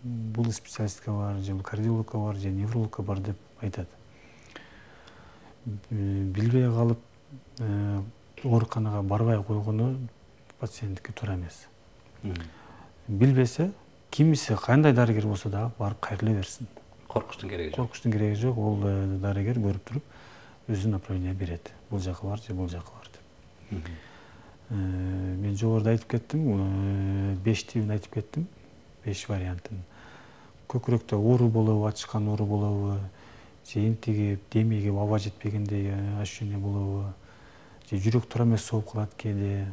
Бул специалистке бар, же кардиологко бар, же неврологко бар деп айтат. Билбей калып ооруканага барбай койгону пациенттикке туура эмес. Билбесе, кимиси кандай дарыгер болсо дагы барып кайрыла берсин. Коркуштун кереги жок. Коркуштун кереги жок. Ол дарыгер көрүп туруп өзү направление берет. Бул жака бар же бул жака бар деп. Мен жогоруда айтып кеттим, 5 типин айтып кеттим. 5 вариантын. Көкүрөктө оору болобу, ачышкан оору болобу, же энтигип, демигип, аба жетпегендей ощущение болобу, же жүрөк туура эмес соғып калат кээде,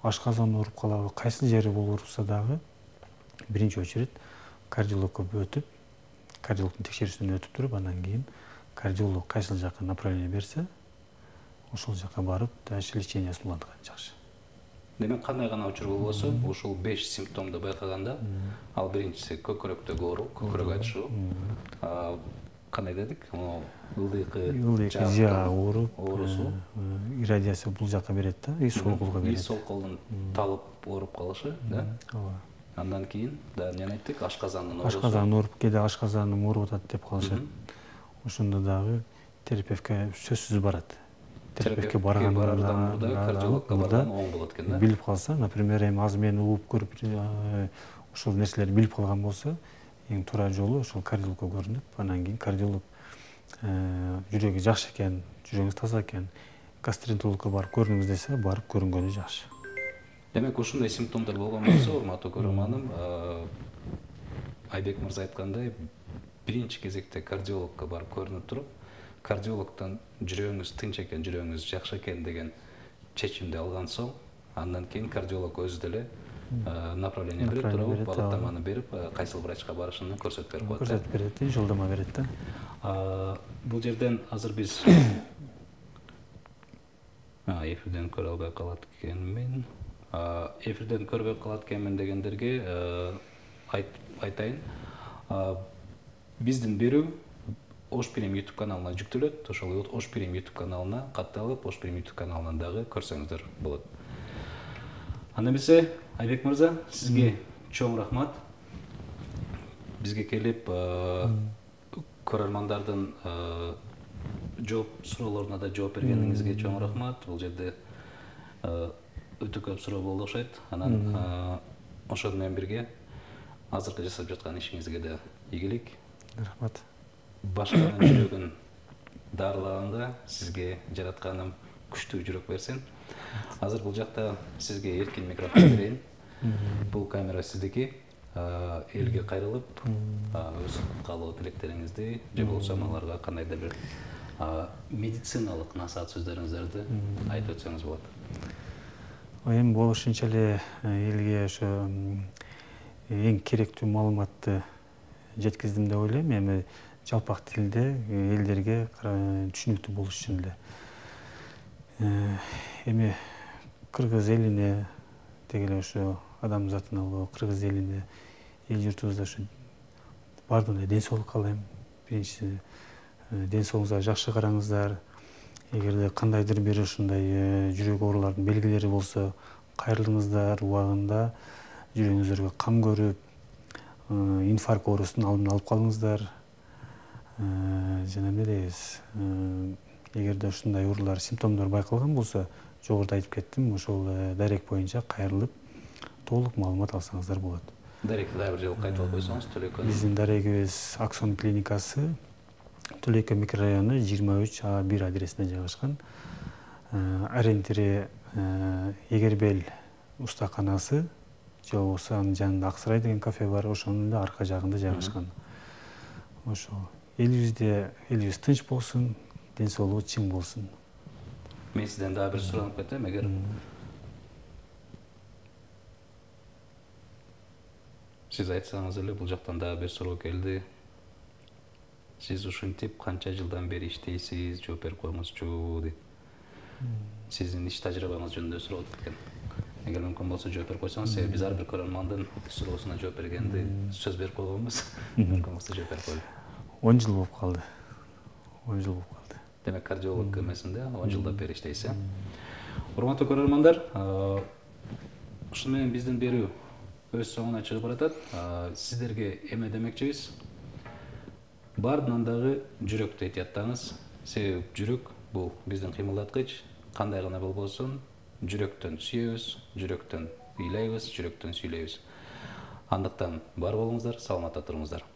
ашказан ооруп калабы, кайсы жери болурса дагы биринчи очередь кардиологко өтүп, кардиологдун текшерүүсүнөн өтүп туруп, андан кийин кардиолог кайсыл жака направление берсе, ошол жака барып, дальше лечениясын уланткан жакшы. Демек, кандай гана учур болбосо, ушул 5 симптомду байкаганда, ал биринчиси көкүрөктөгү оору, көкүрөк ачышуу, кандай дедик, ылдыйкы жаа оорусу, радиация бул жака берет да, и сол колго берет. И сол колдун талып ооруп калышы, да? Ооба. Андан кийин да эмне айттык? Ашказандын оорусу. Ашказан ооруп, кээде ашказаным ооруп атат деп калышат. Ошондо дагы терапевтке сөзсүз барат. Терапевтке баргандан мурда кардиологко барган оң болот экен да. Билип калса, например, эми азыр мен угуп көрүп ошол нерселерди билип калган болсо, эң туура жолу ошол кардиологко көрүнүп, андан кийин кардиолог жүрөгү жакшы экен, жүрөгүңүз таза экен, гастроэнтерологко барып көрүңүз десе, барып көрүнгөнү жакшы. Демек, ушундай симптомдор болгон болсо, урматтуу көрөрманым, Айбек мырза айткандай, биринчи кезекте кардиологко барып көрүнүп туруп, кардиологдон жүрөгүңүз тынч экен, жүрөгүңүз жакшы экен деген чечимди алган соң, андан кийин кардиолог өзү деле направление берип туруп, багыттаманы берип, кайсыл врачка барышын көрсөтүп берип коет. Көрсөтүп берет, жолдомо берет да. Бул жерден азыр биз эфирден көрө албай калат экенмин. Эфирден көрбөй калат экенмин дегендерге айтайын. Биздин берүү Ошпирим YouTube каналына жүктөлөт. Ошол Ошпирим YouTube каналына катталып, Ошпирим YouTube каналынан дагы көрсөңүздөр болот. Анда эмесе, Айбек мырза, сизге чоң рахмат. Бизге келип, көрөрмандардын суроолоруна да жооп бергениңизге чоң рахмат. Бул жерде өтө көп суроо болду окшойт. Анан ошону менен бирге азыркы жасап жаткан ишиңизге да ийгилик. Рахмат. Башканын жүрөгүн дарылаганга сизге жаратканым күчтүү жүрөк берсин. Азыр бул жакта сизге эркин микрофон берейин. Бул камера сиздики. Элге кайрылып, өз каалоо тилектериңизди же болбосо аларга кандайдыр бир медициналык насаат сөздөрүңүздөрдү айтып өтсөңүз болот. Эми болушунча эле элге ошо эң керектүү маалыматты жеткиздим деп ойлойм. Эми жалпак тилде элдерге түшүнүктүү болуш үчүн эле. Эми кыргыз элине албетте эле ошо адамзаттын улуу кыргыз элине, эл журтубузда ушу баардыгына ден соолук каалайм. Биринчи, ден соолугуңузга жакшы караңыздар. Эгерде кандайдыр бир ушундай жүрөк оорулардын белгилери болсо, кайрылыңыздар, убагында жүрөгүңүздөргө кам көрүп, инфаркт оорусунун алдын алып калыңыздар. Жана эмне дейбиз? Эгерде ушундай оорулар, симптомдор байкалган болсо, жогоруда айтып кеттим, ошол дарек боюнча кайрылып, толук маалымат алсаңыздар болот. Даректи дагы бир жолу кайтып алып койсоңуз, Төлөйкөн. Биздин дарегибиз Аксон клиникасы, Төлөйкөн микрорайону 23А1 адресинде жайгашкан. Ориентири Эгербел устаканасы, же болбосо анын жанында Аксырай деген кафе бар, ошонун эле арка жагында жайгашкан. Ошол элибиз тынч болсун, ден соолугу чың болсун. Мен сизден дагы бир суранып кетем, эгер сиз айтсаңыз эле, бул жактан дагы бир суроо келди. Сиз ушинтип канча жылдан бери иштейсиз, жооп берип коюңузчу дейт. Сиздин иш тажрыйбаңыз жөнүндө сурап кеткен. Эгер мүмкүн болсо жооп берип койсоңуз, себеби биз ар бир көрөрмандын суроосуна жооп бергенди сөз берип койгонбуз. Мүмкүн болсо жооп берип коелу. 10 жыл болуп калды. 10 жыл болуп калды. Демек, кардиолог эмесинде 10 жылдан бери иштейсиз. Урматтуу көрөрмандар, ушуну менен биздин берүү өз соңуна чыгып баратат. Сиздерге эме демекчибиз? Бардынан дагы жүрөктү этияттаңыз. Себеби жүрөк бул биздин кыймылдаткыч. Кандай гана болбосун, жүрөктөн сүйөбүз, жүрөктөн ыйлайбыз, жүрөктөн сүйлөйбүз. Андыктан бар болуңуздар, саламатта туруңуздар.